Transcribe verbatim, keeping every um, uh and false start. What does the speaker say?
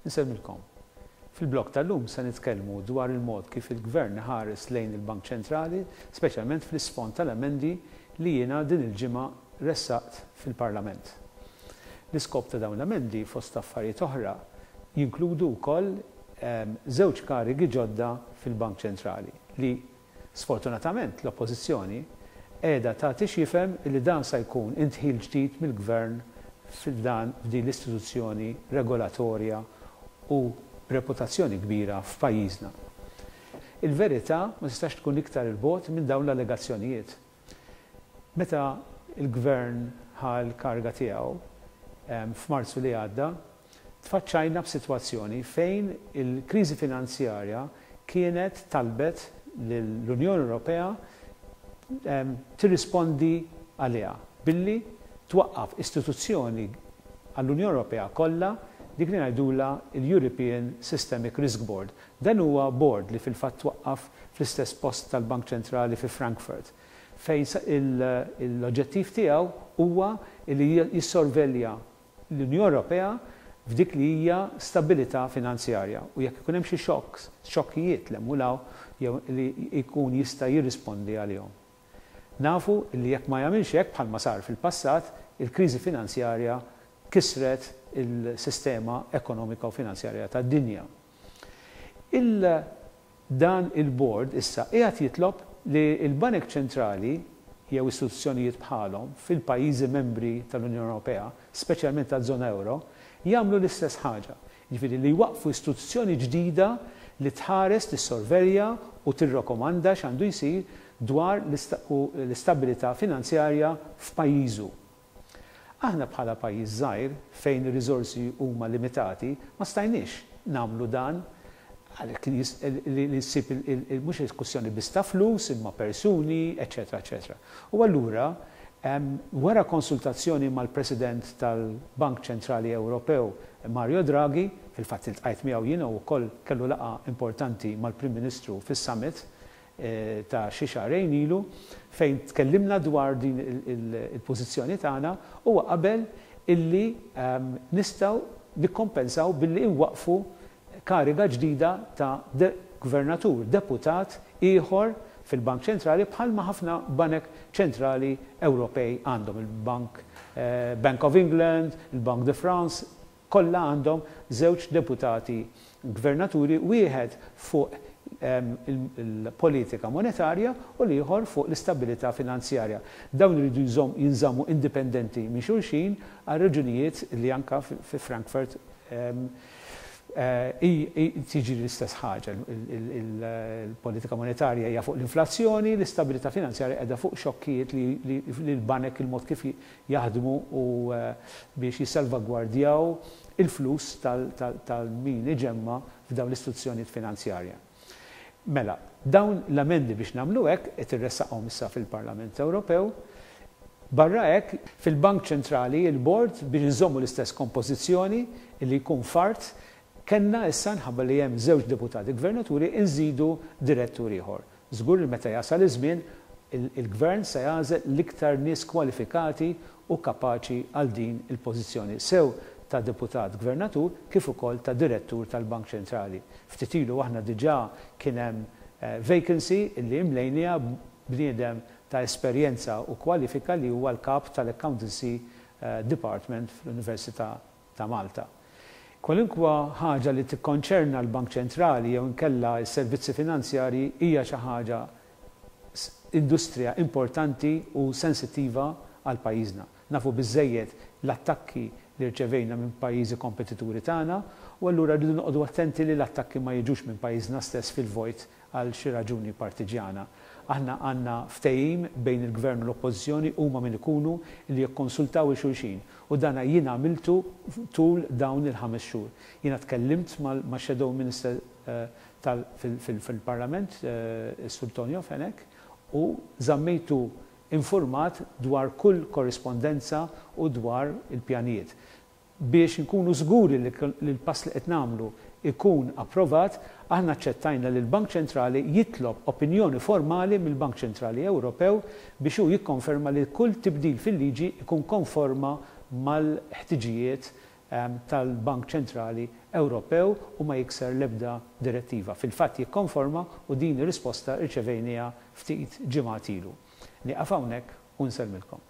Insellmilkom. Fil-blog tal-lum se nitkellmu dwar il-mod kif il-Gvern ħares lejn il-Bank Ċentrali, speċjalment fl-isfond tal-emendi li jiena din il-ġimgħa ressaqt fil-Parlament. L-iskop ta' dawn l-emendi, fost affarijiet oħra, jinkludu wkoll ehm, żewġ karigi ġodda fil-Bank Ċentrali li sfortunatament l-Oppożizzjoni qiegħda tagħti x'jifhem li dan se jkun indħil ġdid mill-Gvern f'dan f'din l-istituzzjoni regolatorja u reputazzjoni kbira f'pajjiżna. Il-verità ma tistax tkun iktar il-bogħod minn dawn l-allegazzjonijiet. Meta il-Gvern ħa l-kariga tiegħu f'Marzu li għadda, tfaċċajna b'sitwazzjoni fejn il-kriżi finanzjarja kienet talbet l-Unjoni Ewropea tirrispondi għaliha billi twaqqaf istituzzjoni għall-Unjoni Ewropea kollha, dik li ngħidula l-European Systemic Risk Board. Dan huwa board li fil-fatt twaqqaf fl-istess post tal-Bank Ċentrali fi Frankfurt, fejn l-oġġettiv tiegħu huwa li jissorvelja l-Unjoni Ewropea f'dik li hija stabilità finanzjarja u jekk ikun hemm xi shocks, xokkijiet 'l hemm jew li jkun jista' jirrispondi għalihom. Nafu li jekk ma jagħmilx hekk, bħalma sar fil-passat, il-kriżi finanzjarja kisret il-sistema ekonomika u finanzjarja tad-dinja. Il dan il-board issa qiegħed jitlob li l-Banek Ċentrali jew istituzzjonijiet bħalhom fil-pajjiżi membri tal-Unjoni Ewropea, speċjalment taż-żona euro, jagħmlu l-istess ħaġa. Jiġifieri li jwaqfu istituzzjoni ġdida li tħares, tissorvelja u tirrakkomanda x'għandu jsir dwar l-istabilità finanzjarja f'pajjiżu. Aħna bħala pajjiż żgħir fejn ir-riżorsi huma limitati, ma stajniex nagħmlu dan għalhekk li ssib mhux kwistjoni biss ta' flus imma persuni, eċetera, eċetera. U allura, wara konsultazzjoni mal-President tal-Bank Ċentrali Ewropew, Mario Draghi, fil-fatt iltqajt miegħu jiena u wkoll kellu laqgħa importanti mal-Prim Ministru fis-summit ta' xi xahrejn ilu, fejn tkellimna dwar din il-pożizzjoni tagħna, huwa qabel illi nistgħu nikkompensaw billi nwaqfu kariga ġdida ta' gvernatur, deputat ieħor fil-Bank Ċentrali, bħalma ħafna banek ċentrali Ewropej għandhom, il-Bank Bank of England, il-Bank de France, kollha għandhom żewġ deputati gvernaturi, wieħed fuq il-politika monetarja u l-ieħor fuq l-istabilità finanzjarja. Dawn iridu jinżammu indipendenti minn xulxin għal raġunijiet li anka fi Frankfurt tiġi l-istess ħaġa. Il-politika monetarja hija fuq l-inflazzjoni, l-istabilità finanzjarja qiegħda fuq xokkijiet li l-banek, il-mod kif jaħdmu u biex jissalvagwardjaw il-flus tal-min iġemma f'dawn l-istituzzjonijiet finanzjarja. Mela, dawn l-amendi biex nagħmlu hekk qed irressaqhom issa fil-Parlament Ewropew. Barra hekk, fil-Bank Ċentrali, il-board, biex nżommu l-istess kompożizzjoni li jkun fart, kellna issa, nħabba li hemm żewġ deputati gvernaturi, nżidu direttur ieħor. Żgur li meta jasal iż-żmien il-gvern se jagħżel l-iktar nies kwalifikati u kapaċi għal din il-pożizzjoni, sew ta' deputat gvernatur kif ukoll ta' direttur tal-Bank Ċentrali. Ftit ilu aħna diġà kien hemm vacancy illi imlejniha bniedem ta' esperjenza u kwalifika li huwa l-kap tal-Accountancy Department fl-Università ta' Malta. Kwalunkwa ħaġa li tikkonċerna l-Bank Ċentrali jew inkella s-servizzi finanzjarji hija xi ħaġa industrija importanti u sensittiva għal pajjiżna. Nafu biżejjed l-attakki li rċevejna minn pajjiżi kompetituri tagħna u allura rridu noqogħdu attenti li l-attakki ma jiġux minn pajjiżna stess fil-vojt għal xi raġuni partiġjana. Aħna għandna ftehim bejn il-Gvern u l-Oppożizzjoni, huma min ikunu, li jikkonsultaw il-xulxin u dana jien għamiltu tul dawn il-ħames xhur. Jiena tkellimt ma' Shadow Minister fil-Parlament, is-Sur Tonio Fenech, u żammejtu informat dwar kull korrispondenza u dwar il-pjanijiet. Biex nkunu żguri li l-pass li qed nagħmlu ikun approvat, aħna aċċettajna li l-Bank Ċentrali jitlob opinjoni formali mill-Bank Ċentrali Ewropew biex hu jikkonferma li kull tibdil fil-liġi ikun konforma mal-ħtiġijiet tal-Bank Ċentrali Ewropew u ma jikser l-ebda direttiva. Fil-fatt jikkonforma u din ir-risposta rċevejniha ftit ġimgħat ilu. Nieqaf hawnhekk u nsellmilkom.